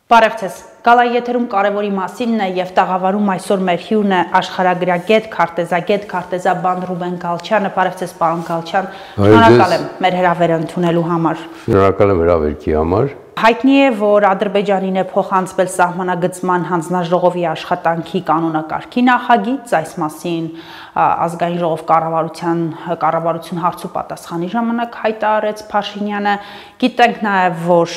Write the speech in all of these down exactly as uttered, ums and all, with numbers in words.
Բարև ձեզ, գալայի եթերում կարևորի մասինն է և տաղավարում այսօր մեր հյուրն է աշխարհագրագետ, քարտեզագետ, քարտեզաբան Ռուբեն Գալչյանը, բարև ձեզ պարոն Գալչյան, շնորհակալ եմ մեր հրավերը ընդունելու համար։ Շնորհակալ եմ հրավերքի համար։ Հայտնի է, որ Ադրբեջանին է փոխանցվել սահմանագծման հանձնաժողովի աշխատանքի կանոնակարգի նախագիծ, այս մասին ազգային ժողով կառավարության կառավարություն հարցու պատասխանի ժամանակ հայտարարեց Փաշինյանը։ Գիտենք նաև, որ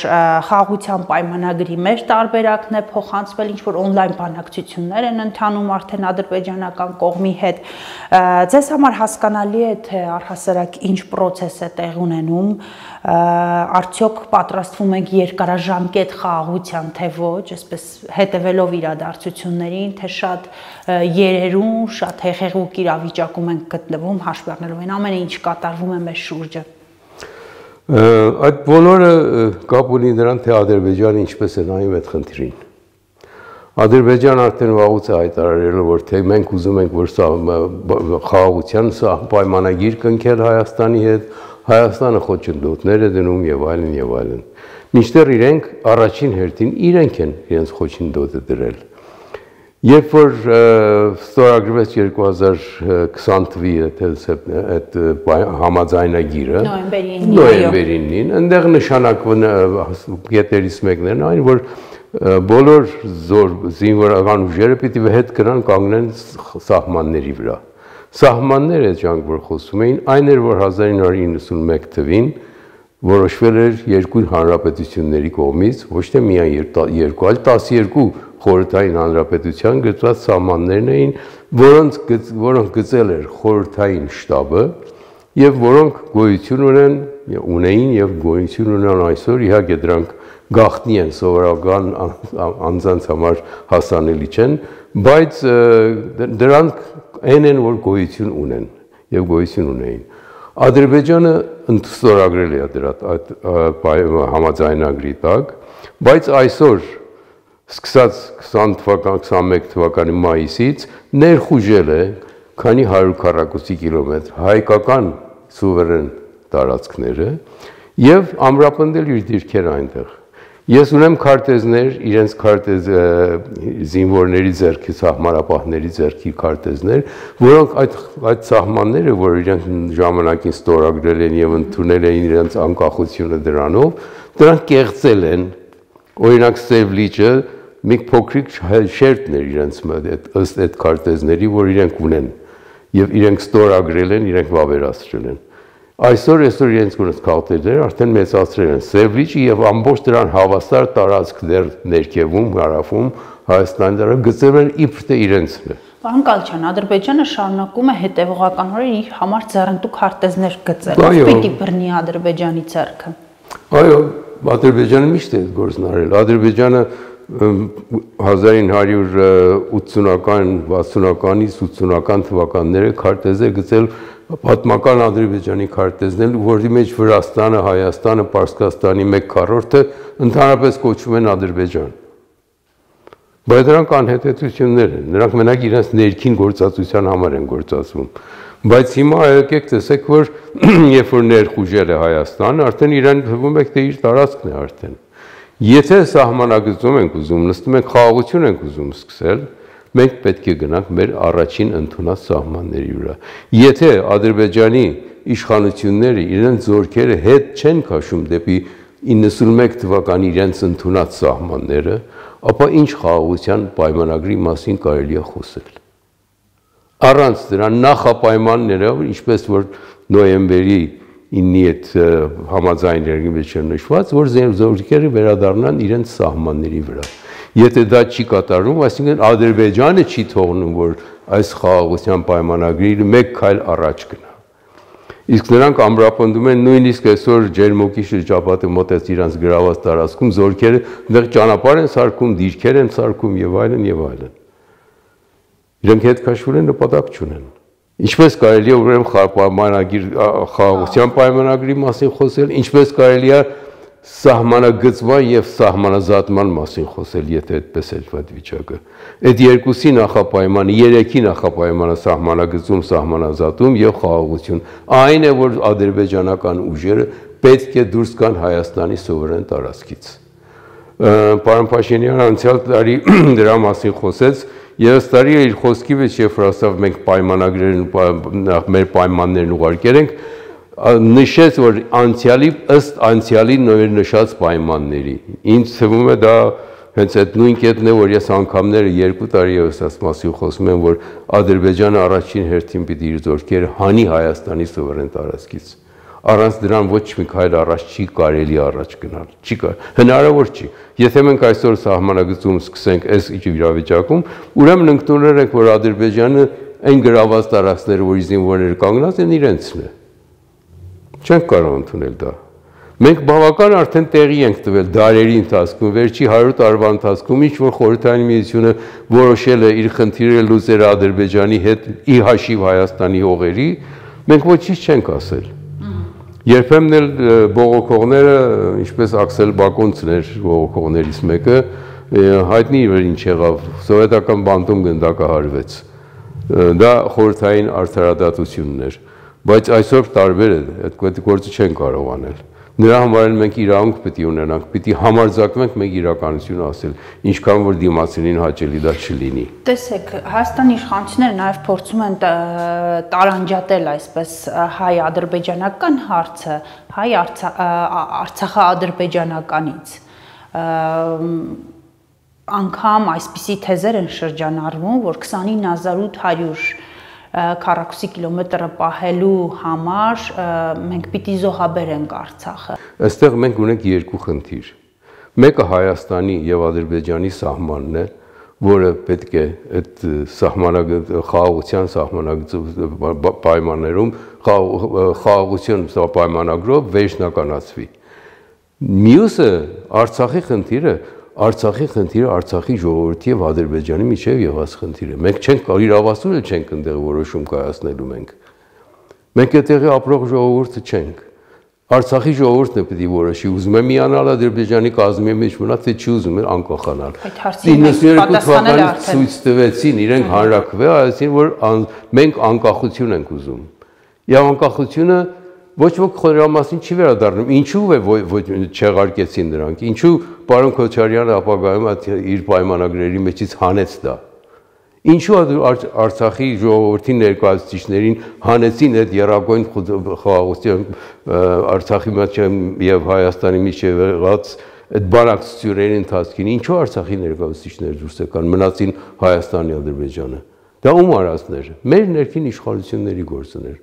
խաղաղության պայմանագրի մեր տարբերակն է փոխանցվել, ինչ որ on-line բանակցություններ են ընթանում արդեն ադրբեջանական կողմի հետ։ Ձեզ համար հասկանալի է, թե առհասարակ ինչ process է տեղի ունենում, արդյոք պատրաստվում ենք երկարաժամկետ խաղաղության, թե ոչ, այսպես հետևելով իրադարձություններին, թե շատ երերուն, շատ հեղեղուկ իրավիճակում ենք գտնվում, հաշվի առնելով այն ամենը, ինչ կատարվում է մեր շուրջը։ Այդ բոլորը կապ ունի նրան, թե Ադրբեջանը ինչպես է նայում այդ խնդրին։ Ադրբեջանը արդեն վաղուց է հայտարարել, որ թե մենք ուզում ենք, որ խաղաղության պայմանագիր կնքել Հայաստանի հետ, Հայաստանը խոչընդոտներ է դնում եւ այլն եւ այլն։ Մինչդեռ իրենք առաջին հերթին իրենք են իրենց խոչընդոտը դրել։ Երբ որ ստորագրվեց երկու հազար քսան թվականի այդ համաձայնագիրը, նոյեմբերին, այնտեղ նշանակվում կետերից մեկն էր այն, որ բոլոր զինվորական ուժերը պիտի հետ գնան կանգնեն սահմանների վրա։ Սահմանները այդ որ խոսում էին, այն էր, որ հազար ինը հարյուր իննսունմեկ թվին որոշվել էր երկու հանրապետությունների կողմից, ոչ թե միայն երկու, այլ տասներկու խորհրդային հանրապետության գծված սահմաններն էին, որոնց որոնք գծել էր խորհրդային շտաբը եւ որոնք գոյություն ունեն, ունեին եւ գոյություն ունեն այսօր, իհարկե դրանք գաղտնի են սովորական անձանց համար հասանելի չեն, բայց դրանք այն են, որ գոյություն ունեն եւ գոյություն ունեին։ Ադրբեջանը ստորագրել է դրա համաձայնագրի տակ, բայց այսօր սկսած քսան թվական, քսանմեկ թվականի մայիսից ներխուժել է քանի հարյուր քառակուսի կիլոմետր հայկական սուվերեն տարածքները եւ ամրապնդել իր դիրքերը այնտեղ։ Ես ունեմ քարտեզներ, իրենց քարտեզ զինվորների ձեռքի, սահմանապահների ձեռքի քարտեզներ, որոնք այդ այդ սահմանները, որ իրենք ժամանակին ստորագրել են եւ ընդունել են իրենց անկախությունը դրանով, դրանք կեղծել են։ Օրինակ Սև լիճը մի փոքրիկ շերտն էր իրենց ըստ այդ քարտեզների, որ իրենք ունեն եւ իրենք ստորագրել են, իրենք վավերացրել են։ Այսօր այսօր իրենց գոնց քարտեզները արդեն մեծացրել են Սև լիճը եւ ամբողջ դրան հավասար տարածք դեռ ներքևում, հարավում Հայաստանի դրա գծել են իբր թե իրենցն է։ Պարոն Գալչյան, Ադրբեջանը շարունակում է հետևողականորեն իր համար ձեռնտու քարտեզներ գծել։ Ո՞վ պիտի բռնի Ադրբեջանի ձեռքը։ Այո, Ադրբեջանը միշտ է գործն արել։ Ադրբեջանը հազար ինը հարյուր ութսունական, վաթսունականից ութսունական թվականները քարտեզ է գծել պատմական Ադրբեջանի քարտեզներ, որի մեջ Վրաստանը, Հայաստանը, Պարսկաստանի մեկ քառորդը ընդհանրապես կոչվում են Ադրբեջան։ Բայց դրանք անհետեցություններ են, նրանք մենակ իրենց ներքին գործածության համար են գործածվում։ Բայց հիմա եկեք տեսեք, որ երբ որ ներխուժել է Հայաստանը, արդեն իրեն թվում է, թե իր տարածքն է արդեն։ Եթե սահմանագծում ենք ուզում, նստում ենք խաղաղություն ենք ուզում սկսել, մենք պետք է գնանք մեր առաջին ընդունած սահմանների վրա։ Եթե Ադրբեջանի իշխանությունները իրենց զորքերը հետ չեն քաշում դեպի իննսունմեկ թվականի իրենց ընդունած սահմանները, ապա ինչ խաղաղության պայմանագրի մասին կարելի է խոսել։ Առանց դրա նախապայմանները, ինչպես որ նոյեմբերի ինի այդ համաձայնագրի մեջ է նշված, որ զորքերը վերադառնան իրենց սահմանների վրա։ Եթե դա չի կատարվում, այսինքն Ադրբեջանը չի թողնում, որ այս խաղաղության պայմանագրի մեկ քայլ առաջ գնա։ Իսկ նրանք ամրապնդում են նույնիսկ այսօր Ջերմոկի շրջապատը մոտեց իրանց գրաված տարածքում, զորքերը այնտեղ ճանապարհ են սարքում, դիրքեր են սարքում եւ այլն եւ այլն։ Իրենք հետ քաշվել են, նպատակ չունեն։ Ինչպես կարելի է ուրեմն պայմանագիր խաղաղության պայմանագրի մասին խոսել, ինչպես կարելի է սահմանագծման եւ սահմանազատման մասին խոսել, եթե այդպես է այդ վիճակը։ Այդ երկուսի նախապայմանը, երեքի նախապայմանը սահմանագծում, սահմանազատում եւ խաղաղություն։ Այն է, որ ադրբեջանական ուժերը պետք է դուրս գան Հայաստանի սովորեն տարածքից։ Պարոն Փաշինյանը անցյալ տարի դրա մասին խոսեց եւ ըստ տարի իր խոսքի մեջ երբ որ ասավ մենք պայմանագրերն մեր պայմաններն ուղարկել ենք նշեց որ անցյալի ըստ անցյալի նշած պայմանների ինձ թվում է դա հենց այդ նույն կետն է որ ես անգամները երկու տարի եւս այս մասին խոսում եմ որ Ադրբեջանը առաջին հերթին պիտի իր զորքերը հանի Հայաստանի սովերեն տարածքից առանց դրան ոչ մի քայլ առաջ չի կարելի առաջ գնալ չի կար հնարավոր չի եթե մենք այսօր սահմանագծում սկսենք այս իրավիճակում ուրեմն ընդունել ենք որ Ադրբեջանը այն գրաված տարածքները որ զինվորները կանգնած են իրենցն է չենք կարող ընդունել դա մենք բավական արդեն տեղի ենք տվել դարերի ընթացքում վերջի հարյուր տարվա ընթացքում ինչ որ խորհրդային միությունը որոշել է իր խնդիրը լուծել Ադրբեջանի հետ ի հաշիվ Հայաստանի հողերի մենք ոչինչ չենք ասել երբեմն էլ բողոքողները ինչպես Աքսել Բակոնցն էր բողոքողներից մեկը հայտնի էր ինչ եղավ սովետական բանտում գնդակահարվեց դա խորհրդային արդարադատությունն էր բայց այսօր տարբեր է այդ գործը չեն կարող անել նրա համար էլ մենք իրավունք պիտի ունենանք պիտի համարձակվենք մենք իրականությունը ասել ինչքան որ դիմացինին հաճելի դա չլինի տեսեք Հայաստանի իշխանությունները նաև փորձում են տարանջատել այսպես հայ-ադրբեջանական հարցը հայ արցախա-ադրբեջանականից անգամ այսպիսի թեզեր են շրջանառվում որ քսանինը հազար ութ հարյուր քառակուսի կիլոմետրը պահելու համար մենք պիտի զոհաբերենք Արցախը։ Այստեղ մենք ունենք երկու խնդիր։ Մեկը Հայաստանի եւ Ադրբեջանի սահմանն է, որը պետք է այդ սահմանագծի խաղաղության սահմանագծի պայմաններում խաղաղություն պայմանագրով վերջնականացվի։ Մյուսը Արցախի խնդիրը Արցախի խնդիրը Արցախի ժողովրդի եւ Ադրբեջանի միջեւ եղած խնդիր է։ Մենք չենք իրավասու էլ չենք այնտեղ որոշում կայացնելու մենք։ Մենք այդտեղի ապրող ժողովուրդը չենք։ Արցախի ժողովուրդն է պետք է որոշի, ուզում է միանալ Ադրբեջանի կազմի մեջ մնա, թե չի ուզում է անկախանալ։ իննսունյոթ թվականից ցույց տվեցին իրենք հանրաքվե, այսինքն որ մենք անկախություն ենք ուզում։ Եվ անկախությունը ոչ ոք դրա մասին չի վերադառնում։ Ինչու է չեղարկեցին նրանք։ Ինչու պարոն Քոչարյանը ապագայում իր պայմանագրերի մեջից հանեց դա։ Ինչու Արցախի ժողովրդի ներկայացուցիչներին հանեցին այդ երակոյն խաղաղության Արցախի մեջ եւ Հայաստանի միջեւ եղած այդ բանակցությունների ընթացքին ինչու Արցախի ներկայացուցիչները դուրս եկան մնացին Հայաստանի Ադրբեջանը։ Դա ում արածն էր։ Մեր ներքին իշխանությունների գործն էր։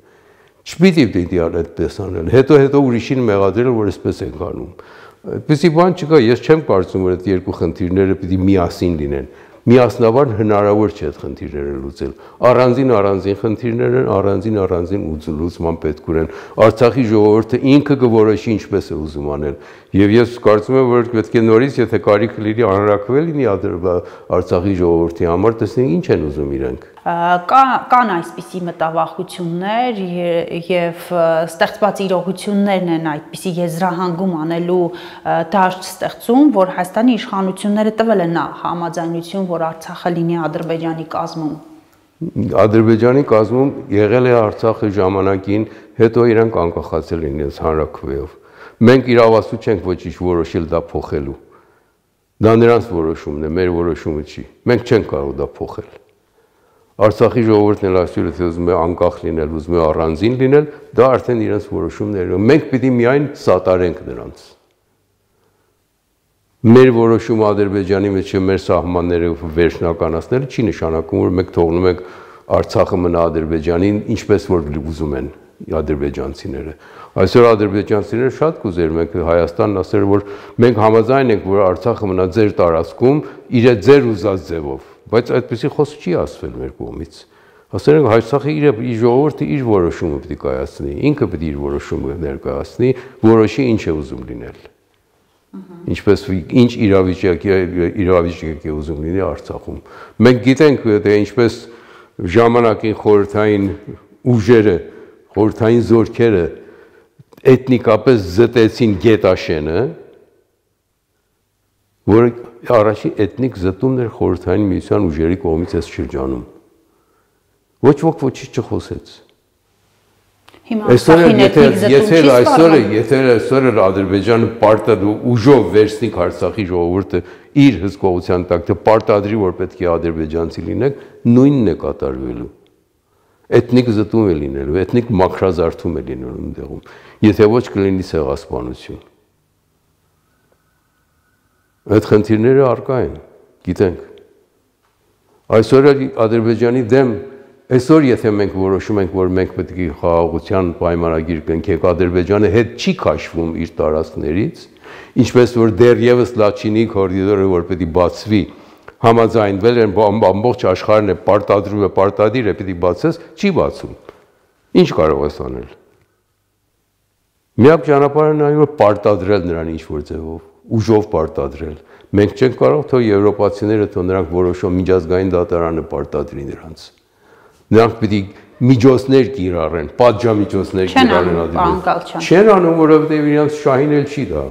Չպիտի պիտի այդպես անել, հետո հետո ուրիշին մեղադրել, որ այսպես ենք անում։ Այդպեսի բան չկա, ես չեմ կարծում, որ այդ երկու խնդիրները պիտի միասին լինեն։ Միասնաբար հնարավոր չէ այդ խնդիրները լուծել։ Առանձին առանձին խնդիրներ են, առանձին առանձին լուծման պետք ունեն։ Արցախի ժողովուրդը ինքը կորոշի ինչպես է ուզում անել։ Եվ ես կարծում եմ, որ պետք է նորից, եթե կարիք լինի, անհրաժեշտ լինի Արցախի ժողովրդի համար, տեսնենք ինչ են ուզում իրենք։ Կան այսպիսի մտավախություններ եւ ստեղծված իրողություններն են այդպիսի եզրահանգում անելու դաշտ ստեղծում, որ Հայաստանի իշխանությունները տվել են համաձայնություն, որ Արցախը լինի Ադրբեջանի կազմում։ Ադրբեջանի կազմում եղել է Արցախը ժամանակին, հետո իրենք անկախացել են իրենց հանրաքվեով։ Մենք իրավասու չենք ոչինչ որոշել դա փոխելու։ Դա նրանց որոշումն է, մեր որոշումը չի։ Մենք չենք կարող դա փոխել։ Արցախի ժողովուրդն էլ այսօր եթե ուզում է անկախ լինել, ուզում է առանձին լինել, դա արդեն իրենց որոշումներն են։ Մենք պիտի միայն սատարենք նրանց։ Մեր որոշումը Ադրբեջանի մեջ մեր սահմանները վերջնականացնելը չի նշանակում, որ մենք թողնում ենք Արցախը մնա Ադրբեջանին, ինչպես որ ուզում են ադրբեջանցիները։ Այսօր ադրբեջանցիները շատ կուզեր մենք Հայաստանն ասել, որ մենք համաձայն ենք, որ Արցախը մնա ձեր տարածքում, իր ձեր ուզած ձևով, բայց այդպեսի խոսք չի ասվել մեր կողմից։ Ասել ենք Հայաստանի իր ժողովուրդը իր որոշումը պետք է կայացնի, ինքը պետք է իր որոշումը ներկայացնի, որոշի ինչ է ուզում լինել։ Ինչպես ինչ իրավիճակի իրավիճակի ուզում լինի Արցախում։ Մենք գիտենք, թե ինչպես ժամանակին խորհրդային ուժերը, խորհրդային զորքերը էթնիկապես զտեցին Գետաշենը, որը առաջին էթնիկ զտումն էր խորհրդային միության ուժերի կողմից այս շրջանում։ Ոչ ոք ոչինչ չխոսեց։ Այսօր եթե այսօր եթե այսօր Ադրբեջանը պարտադիր ուժով վերցնի Արցախի ժողովուրդը իր հսկողության տակ, թե պարտադրի, որ պետք է ադրբեջանցի լինեք, նույնն է կատարվելու։ Էթնիկ զտում է լինելու, էթնիկ մաքրազարդում է լինելու այնտեղում, եթե ոչ կլինի ցեղասպանություն։ Այդ խնդիրները առկա են, գիտենք։ Այսօր Ադրբեջանի դեմ Այսօր եթե մենք որոշում ենք, որ մենք պետք է խաղաղության պայմանագիր կնքենք, Ադրբեջանը հետ չի քաշվում իր տարածքներից, ինչպես որ դեռևս Լաչինի կորիդորը, որ պետք է բացվի, համաձայնվել են ամբողջ աշխարհն է պարտադրում է, պարտադիր է պետք է բացես, չի բացում։ Ինչ կարող ես անել։ Միակ ճանապարհը նա է, որ պարտադրել նրան ինչ-որ ձևով, ուժով պարտադրել։ Մենք չենք կարող թող եվրոպացիները, թող նրանք որոշում միջազգային դատարանը պարտադրի նրանց։ Նրանք պիտի միջոցներ կիրառեն, պատժամիջոցներ կիրառեն Ադրբեջանը։ Չեն անում, որովհետև իրանց շահին էլ չի դա։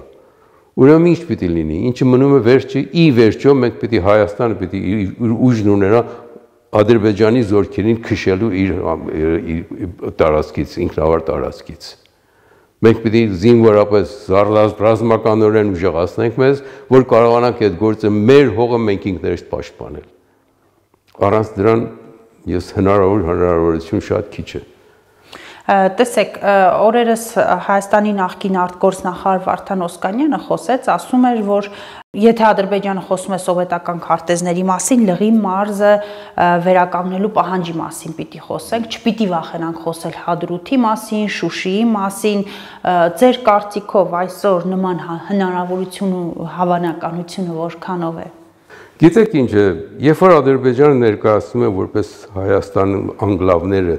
Ուրեմն ինչ պիտի լինի, ինչը մնում է վերջը, ի վերջո մենք պիտի Հայաստանը պիտի ուժն ունենա Ադրբեջանի զորքերին քշելու իր տարածքից, ինքնավար տարածքից։ Մենք պիտի զինվորապես ռազմականորեն ուժեղացնենք մեզ, որ կարողանանք այդ գործը մեր հողը մենք ինքներս պաշտպանել։ Առանց դրան ես հնարավոր հնարավորություն շատ քիչ է։ Տեսեք, օրերս Հայաստանի նախկին արտգործնախարար Վարդան Օսկանյանը խոսեց, ասում էր, որ եթե Ադրբեջանը խոսում է սովետական քարտեզների մասին, Լղի մարզը վերականգնելու պահանջի մասին պիտի խոսենք, չպիտի վախենանք խոսել Հադրութի մասին, Շուշիի մասին, ձեր կարծիքով այսօր նման հնարավորություն ու հավանականությունը որքանով է։ Գիտեք ինչ է, երբ որ Ադրբեջանը ներկայացնում է որպես Հայաստանի անկլավները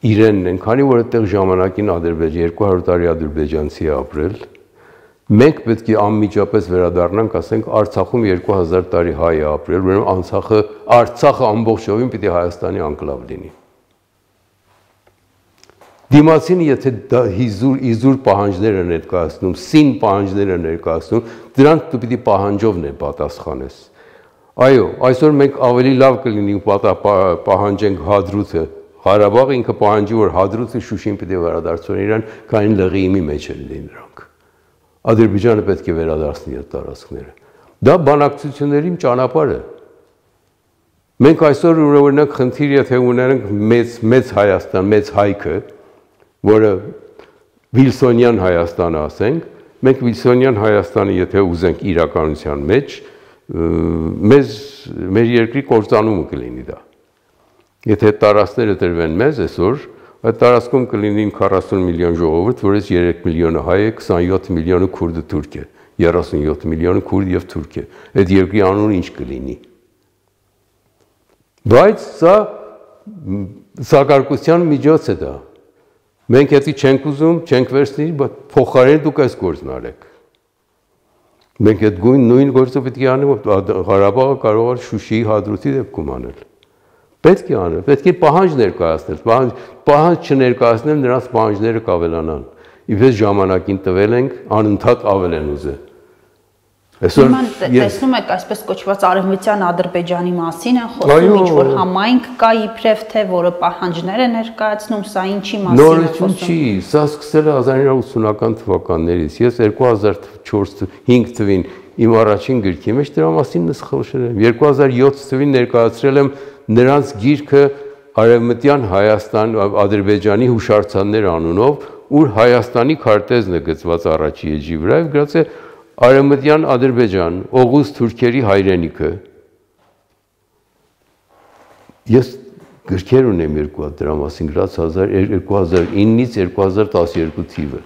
իրենն են, քանի որ այդտեղ ժամանակին Ադրբեջան երկու հարյուր տարի ադրբեջանցի է ապրել, մենք պետք է անմիջապես վերադառնանք, ասենք Արցախում երկու հազար տարի հայ է ապրել, ուրեմն Արցախը Արցախը ամբողջովին պիտի Հայաստանի անկլավ լինի։ Դիմացինը եթե իզուր իզուր պահանջներ են ներկայացնում, սին պահանջներ են ներկայացնում, դրանք դու պիտի պահանջով ներ պատասխանես։ Այո, այսօր մենք ավելի լավ կլինի պահանջենք Հադրութը, Ղարաբաղը ինքը պահանջի, որ Հադրութը Շուշին պետք է վերադարձնեն իրան, քանի Լղիի մեջ են լինի նրանք։ Ադրբեջանը պետք է վերադարձնի այդ տարածքները։ Դա բանակցությունների ճանապարհ է։ Մենք այսօր օրինակ խնդիր եթե ունենք մեծ մեծ Հայաստան, մեծ հայքը, որը Վիլսոնյան Հայաստանը ասենք, մենք Վիլսոնյան Հայաստանը եթե ուզենք իրականության մեջ, մեզ մեր երկրի կործանումը կլինի դա։ Եթե տարածքները տրվեն մեզ այսօր, այդ տարածքում կլինի քառասուն միլիոն ժողովուրդ, որից երեք միլիոնը հայ է, քսանյոթ միլիոնը քուրդը թուրք է, երեսունյոթ միլիոնը քուրդ եւ թուրք է։ Այդ երկրի անունը ինչ կլինի։ Բայց սա սակարկության միջոց է դա։ Մենք եթե չենք ուզում, չենք վերցնի, փոխարեն դուք այս գործն արեք։ Մենք այդ նույն գործը պետք է անենք, Ղարաբաղը կարող է Շուշիի Հադրութի դեպքում անել։ Պետք է անել, պետք է պահանջ ներկայացնել, պահանջ չներկայացնել, նրանց պահանջները կավելանան։ Իպես ժամանակին տվել ենք, անընդհատ ավել են ուզել։ Այսօր տեսնում եք այսպես կոչված արևմտյան Ադրբեջանի մասին են խոսում, ինչ որ համայնք կա իբրև թե որը պահանջներ է ներկայացնում, սա ինչի մասին է խոսում։ Նորություն չի, սա սկսել է հազար ինը հարյուր ութսունական թվականներից։ Ես երկու հազար չորս հինգ թվին իմ առաջին գրքի մեջ դրա մասին նսխալշել եմ։ երկու հազար յոթ թվին ներկայացրել եմ նրանց գիրքը Արևմտյան Հայաստան Ադրբեջանի հուշարձաններ անունով, ուր Հայաստանի քարտեզն է գծված առաջի էջի վրա, եւ գրած է Արևմտյան Ադրբեջան, Օղուզ թուրքերի հայրենիքը։ Ես գրքեր ունեմ երկու հատ դրա մասին գրած երկու հազար ինից երկու հազար տասներկու թիվը։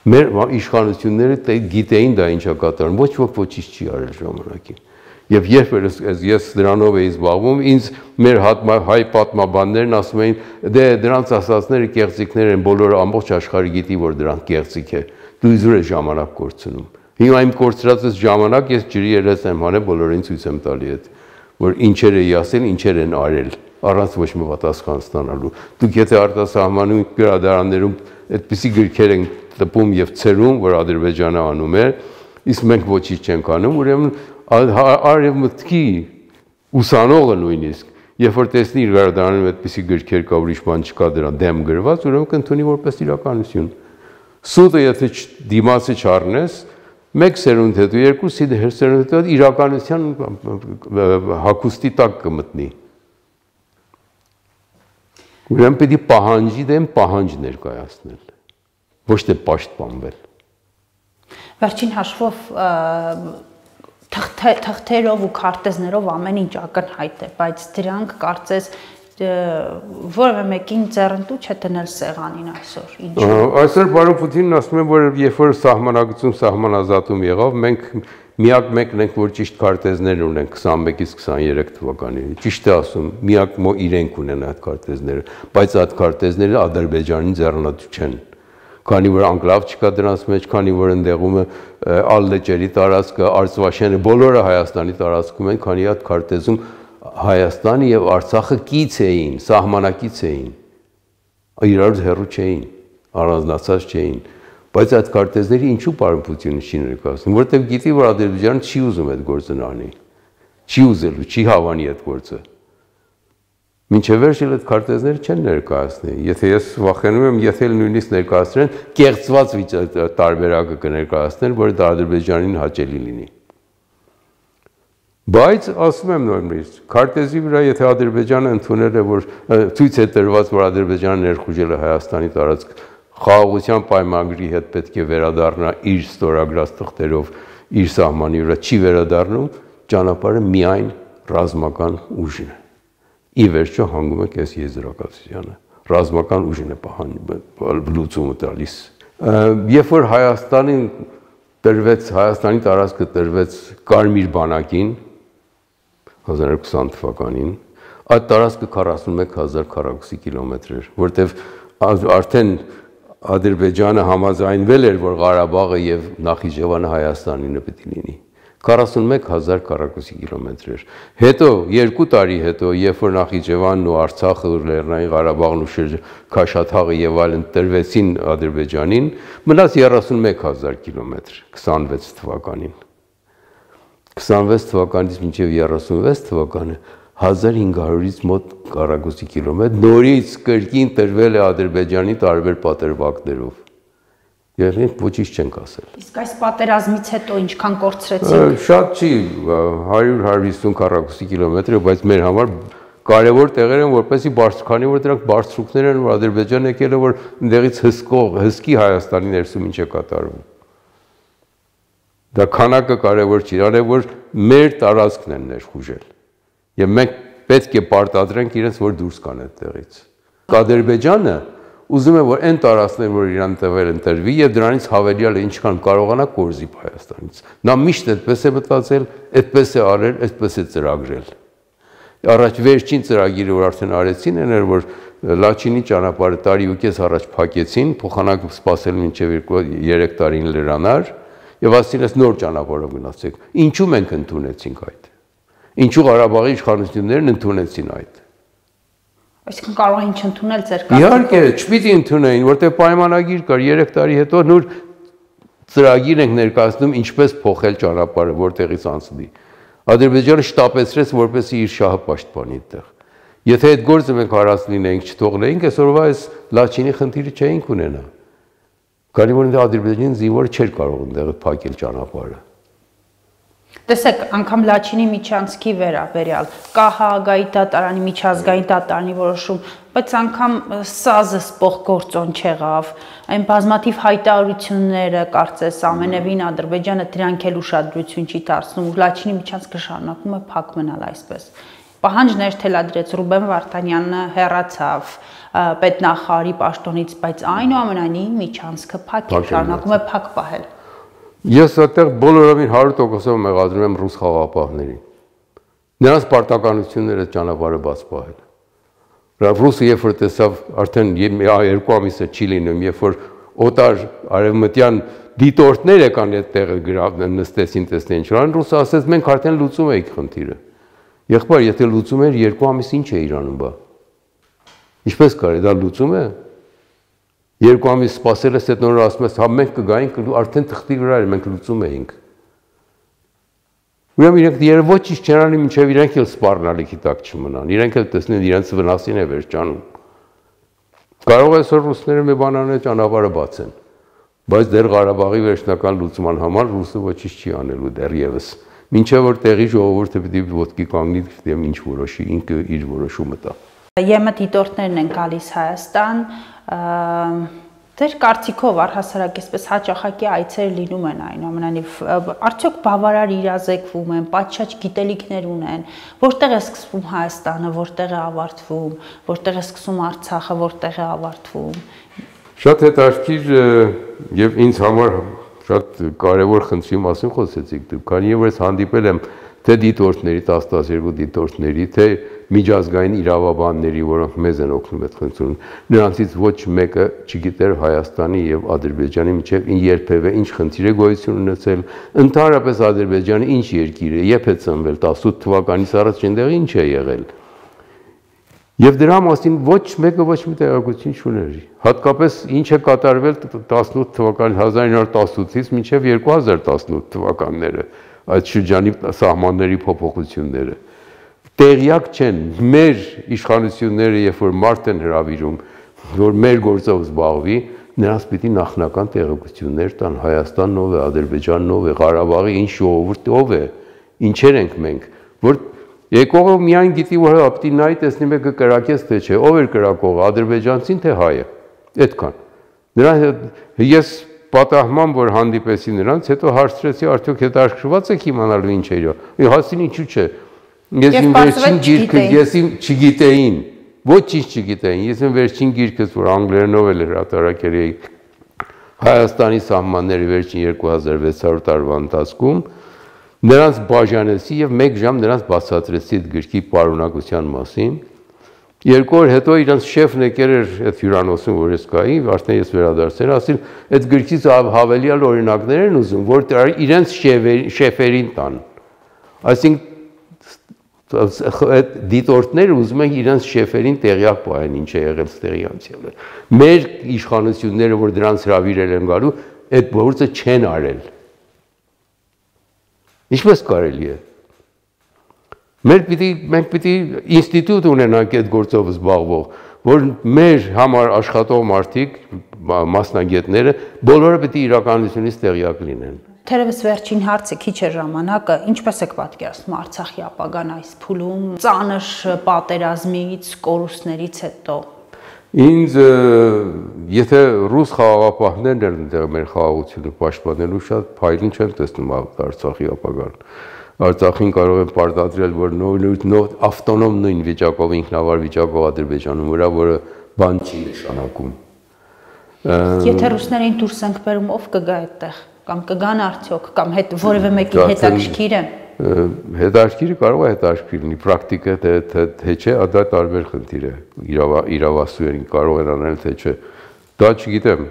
Մեր իշխանությունները գիտեին դա ինչա կատարում, ոչ ոք ոչինչ չի արել ժամանակին։ Եվ երբ ես դրանով էի զբաղվում, ինձ մեր հայ պատմաբաններն ասում էին, դե դրանց ասածները կեղծիքներ են, բոլորը ամբողջ աշխարհը գիտի, որ դրանք կեղծիք է։ Դու իզուր ես ժամանակ կորցնում։ Հիմա իմ կորցրած այս ժամանակ ես ջրի երես եմ հանել, բոլորին ցույց եմ տալի այդ, որ ինչեր էի ասել, ինչեր են արել, առանց ոչ մի պատասխան ստանալու։ Դուք եթե արտասահմանում գրադարաններում այդպիսի գրքեր են տպում եւ ցերում, որ Ադրբեջանը անում է, իսկ մենք ոչինչ չենք անում, ուրեմն արևմուտքի ուսանողը նույնիսկ, երբ որ տեսնի իր գրադարանում այդպիսի գրքեր կա, ուրիշ բան չկա դրան դեմ գրված, ուրեմն կընդունի որպես իրականություն։ Սուտը եթե դիմացը չառնես, մեկ սերունդ հետո, երկու սերունդ հետո իրականության հագուստի տակ կմտնի։ Ուրեմն պետք է պահանջի դեմ պահանջ ներկայացնել, ոչ թե պաշտպանվել։ Վերջին հաշվով թղթերով ու քարտեզներով ամեն ինչ ակնհայտ է, բայց դրանք կարծես որևէ մեկին ձեռնտու չէ դնել սեղանին այսօր։ Այսօր պարոն Պուտինն ասում է, որ երբ որ սահմանագծում սահմանազատում եղավ, մենք միակ մեկն ենք, որ ճիշտ քարտեզներ ունենք քսանմեկից քսաներեք թվականի։ Ճիշտ է ասում, միակ իրենք ունեն այդ քարտեզները, բայց այդ քարտեզները Ադրբեջանի ձեռնտու չեն։ Քանի որ անկլավ չկա դրանց մեջ, քանի որ ընդեղում է Ալլեջերի տարածքը, Արցվաշենը, բոլորը Հայաստանի տարածքում են, քանի այդ քարտեզում Հայաստանը եւ Արցախը կից էին, սահմանակից էին, իրարից հեռու չէին, առանձնացած չէին, բայց այդ քարտեզների ինչու պարոն Պուտինը չի ներկայացնում, որտեղ գիտի, որ Ադրբեջանը չի ուզում այդ գործը անի, չի ուզելու, չի հավանի այդ գործը։ Մինչև վերջ էլ այդ քարտեզները չեն ներկայացնի, եթե ես վախենում եմ, եթե նույնիսկ ներկայացնեն, կեղծված տարբերակը կներկայացնեն, որը Ադրբեջանին հաճելի լինի։ Բայց ասում եմ նույնիսկ, քարտեզի վրա եթե Ադրբեջանը ընդունել է, որ ցույց է տրված, որ Ադրբեջանը ներխուժել է Հայաստանի տարածք, խաղաղության պայմանագրի հետ պետք է վերադառնա իր ստորագրած թղթերով իր սահմանի վրա, չի վերադառնում, ճանապարհը միայն ռազմական ուժն է։ Ի վերջո հանգում է կես եզրակացությանը, ռազմական ուժն է լուծումը տալիս։ Երբ որ Հայաստանին տրվեց, Հայաստանի տարածքը տրվեց Կարմիր բանակին հազար երկու կեսանմեկ թվականին, այդ տարածքը քառասունմեկ հազար քառակուսի կիլոմետր էր, որտեվ արդեն Ադրբեջանը համաձայնվել էր, որ Ղարաբաղը եւ Նախիջևանը Հայաստանինը պետք է լինի։ քառասունմեկ հազար քառակուսի կիլոմետր էր։ Հետո երկու տարի հետո, երբ որ Նախիջևանն ու Արցախը, Լեռնային Ղարաբաղն ու Քաշաթաղը եւ այլն տրվեցին Ադրբեջանին, մնաց երեսունմեկ հազար կիլոմետր քսանվեց թվականին։ քսանվեց թվականից մինչև երեսունվեց թվականը հազար հինգ հարյուրից մոտ քառակուսի կիլոմետր նորից կրկին տրվել է Ադրբեջանի տարբեր պատերվածներով։ Երբ ոչինչ չենք ասել։ Իսկ այս պատերազմից հետո ինչքան կորցրեցինք։ Շատ չի, հարյուր հարյուր հիսուն քառակուսի կիլոմետր, բայց մեր համար կարևոր տեղեր են, որպեսզի բարձրքանի, որ դրանք բարձրություններ են, որ Ադրբեջանը եկել է, որ ընդեղից հսկող, հսկի Հայաստանի ներսում ինչ է կատարվում։ Դա քանակը կարևոր չի, այլ որ մեր տարածքն են ներխուժել։ Եվ մենք պետք է պարտադրենք իրենց, որ դուրս գան այդտեղից։ Ադրբեջանը ուզում է, որ այն տարածքներ, որ իրան տվել են, տրվի եւ դրանից հավելյալը ինչքան կարողանա կորզի Հայաստանից։ Նա միշտ այդպես է մտածել, այդպես է արել, այդպես է ծրագրել։ Առաջ վերջին ծրագիրը, որ արդեն արեցին, այն էր, որ Լաչինի ճանապարհը տարի ու կես առաջ փակեցին, փոխանակ սպասել մինչև երեք տարին լրանար եւ ասին ես նոր ճանապարհով գնացեք։ Ինչու մենք ընդունեցինք այդ։ Ինչու Ղարաբաղի իշխանություններն ընդունեցին այդ։ Այսինքն կարող էին չընդունել ձեր կարգը։ Իհարկե, չպիտի ընդունեին, որտեղ պայմանագիր կար երեք տարի հետո նոր ծրագիր ենք ներկայացնում ինչպես փոխել ճանապարհը, որտեղից անցնի։ Ադրբեջանը շտապեցրեց, որպեսզի իր շահը պաշտպանի այդտեղ։ Եթե այդ գործը մենք հարաց լինեինք, չթողնեինք, այսօրվա այս Լաչինի խնդիրը չէինք ունենա։ Քանի որ Ադրբեջանի զինվորը չէր կարող այնտեղ փակել ճանապարհը։ Տեսեք, անգամ Լաչինի միջանցքի վերաբերյալ կա Հաագայի դատարանի, միջազգային դատարանի որոշում, բայց անգամ սազը սպող գործոն չեղավ, այն բազմաթիվ հայտարարությունները կարծես ամենևին Ադրբեջանը դրանք էլ ուշադրություն չի դարձնում, ու Լաչինի միջանցքը շարունակում է փակ մնալ այսպես։ Պահանջներ թելադրեց Ռուբեն Վարդանյանը, հեռացավ պետնախարարի պաշտոնից, բայց այնուամենայնիվ միջանցքը փակ է, շարունակում է փակ պահել։ Ես այդտեղ բոլորովին հարյուր տոկոսով մեղադրում եմ ռուս խաղաղապահներին։ Նրանց պարտականությունները ճանապարհը բաց պահել։ Ռուսը երբ որ տեսավ արդեն երկու ամիս է չի լինում, երբ որ օտար արևմտյան դիտորդներ եկան այդ տեղը նստեցին, տեսնեն ինչ կան, ռուսը ասեց մենք արդեն լուծում էինք խնդիրը։ Եղբայր, եթե լուծում էր երկու ամիս ինչ է Իրանում բա։ Ինչպես կարելի դա լուծում է։ Երկու ամիս սպասել ես, այդ նորը ասում ես, հա մենք կգայինք, արդեն թղթի վրա էր, մենք լուծում էինք։ Ուրեմն իրենք երբ ոչինչ չեն անի, մինչև իրենք էլ սպառնալիքի տակ չմնան, իրենք էլ տեսնեն իրենց վնասին է վերջանում։ Կարող է այսօր ռուսները մի բան անել, ճանապարհը բացեն, բայց դեռ Ղարաբաղի վերջնական լուծման համար ռուսը ոչինչ չի անելու դեռևս։ Մինչև որ տեղի ժողովուրդը պիտի ոտքի կանգնի եւ ինչ որոշի, ինքը իր որոշումը տա։ ԵՄ դիտորդներն են գալիս Հայաստան, ձեր կարծիքով առհասարակ այսպես հաճախակի այցեր լինում են այնուամենայնիվ, արդյոք բավարար իրազեկվում են, պատշաճ գիտելիքներ ունեն, որտեղ է սկսվում Հայաստանը, որտեղ է ավարտվում, որտեղ է սկսում Արցախը, որտեղ է ավարտվում։ Շատ հետաքրքիր եւ ինձ համար շատ կարևոր խնդրի մասին խոսեցիք դուք, քանի որ ես հանդիպել եմ թե դիտորդների, տասնյակ դիտորդների, թե միջազգային իրավաբանների, որոնք մեզ են օգնում այդ խնդրում, նրանցից ոչ մեկը չգիտեր Հայաստանի եւ Ադրբեջանի միջեւ երբևէ ինչ խնդիր է գոյություն ունեցել, ընդհանրապես Ադրբեջանը ինչ երկիր է, երբ է ծնվել, տասնութ թվականից առաջ այնտեղ ինչ է եղել։ Եվ դրա մասին ոչ մեկը ոչ մի տեղեկություն չուներ։ Հատկապես ինչ է կատարվել տասնութ թվական հազար ինը հարյուր տասնութից մինչև երկու հազար տասնութ թվականները, այդ շրջանի սահմանների փոփոխությունները։ Տեղյակ չեն մեր իշխանությունները, երբ որ մարդ են հրավիրում, որ մեր գործով զբաղվի, նրանց պիտի նախնական տեղեկություններ տան Հայաստանն ով է, Ադրբեջանն ով է, Ղարաբաղի ինչ ժողովուրդ ով է, ինչեր ենք մենք, որ եկողը միայն գիտի, որ պիտի նայի տեսնի մեկը կրակեց թե չէ, ով էր կրակողը, ադրբեջանցին թե հայը, այդքան։ Նրան ես պատահման, որ հանդիպեցի նրանց, հետո հարցրեցի, արդյոք հետաքրքրված եք իմանալու ինչ էր։ Հասին ինչու՞ չէ։ Ես իմ վերջին գիրքը, ես իմ չգիտեին, ոչինչ չգիտեին։ Ես իմ վերջին գիրքս, որ անգլերենով էլ հրատարակել էի Հայաստանի սահմանների վերջին երկու հազար վեց հարյուր տարվա ընթացքում, նրանց բաժանեցի եւ մեկ ժամ նրանց բացատրեցի այդ գրքի պարունակության մասին։ Երկու օր հետո իրանց շեֆն եկել էր այդ հյուրանոցում, որ ես կայի, արդեն ես վերադարձել, ասել, այդ գրքից հավելյալ օրինակներ են ուզում, որ իրենց շեֆերին տան։ Այսինքն այդ դիտորդները ուզում են իրենց շեֆերին տեղյակ պահեն, ինչ է եղել ստեղի անցյալը։ Մեր իշխանությունները, որ դրանց հրավիրել են գալու, այդ գործը չեն արել։ Ինչպես կարելի է։ Մեր պիտի, մենք պիտի ինստիտուտ ունենանք այդ գործով զբաղվող, որ մեր համար աշխատող մարդիկ, մասնագետները, բոլորը պիտի իրականությունից տեղյակ լինեն։ Թերևս վերջին հարցը քիչ է ժամանակը, ինչպես եք պատկերացնում Արցախի ապագան այս փուլում, ծանր պատերազմից, կորուստներից հետո։ Ինձ եթե ռուս խաղաղապահներն են այնտեղ մեր խաղաղությունը պաշտպանելու, շատ փայլուն չեմ տեսնում Արցախի ապագան։ Արցախին կարող են պարտադրել, որ նոր ավտոնոմ նույն վիճակով, ինքնավար վիճակով Ադրբեջանում վրա, որը բան չի նշանակում։ Եթե ռուսներին դուրս ենք բերում, ով կգա այդտեղ, կամ կգան արդյոք, կամ հետ որևէ մեկի հետաքրքիր է։ Հետաքրքիրը կարող է հետաքրքիր լինի, պրակտիկա թե չէ, դա տարբեր խնդիր է, իրավասուերին կարող են անել թե չէ, դա չգիտեմ,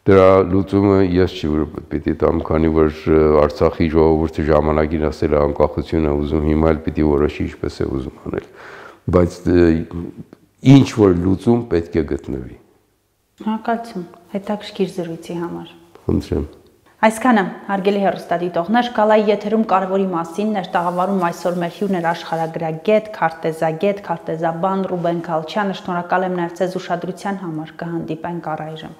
դրա լուծումը ես չի որ պիտի տամ, քանի որ Արցախի ժողովուրդը ժամանակին ասել է անկախություն է ուզում, հիմա էլ պիտի որոշի ինչպես է ուզում անել, բայց ինչ որ լուծում պետք է գտնվի։ Շնորհակալություն հետաքրքիր զրույցի համար։ Խնդրեմ։ Այսքանը, հարգելի հեռուստադիտողներ, Գալայի եթերում կարևորի մասին էր տաղավարում այսօր մեր հյուրն էր աշխարհագրագետ, քարտեզագետ, քարտեզաբան Ռուբեն Գալչյանը։ Շնորհակալ եմ նաև ձեզ ուշադրության համար, կհանդիպենք առայժմ։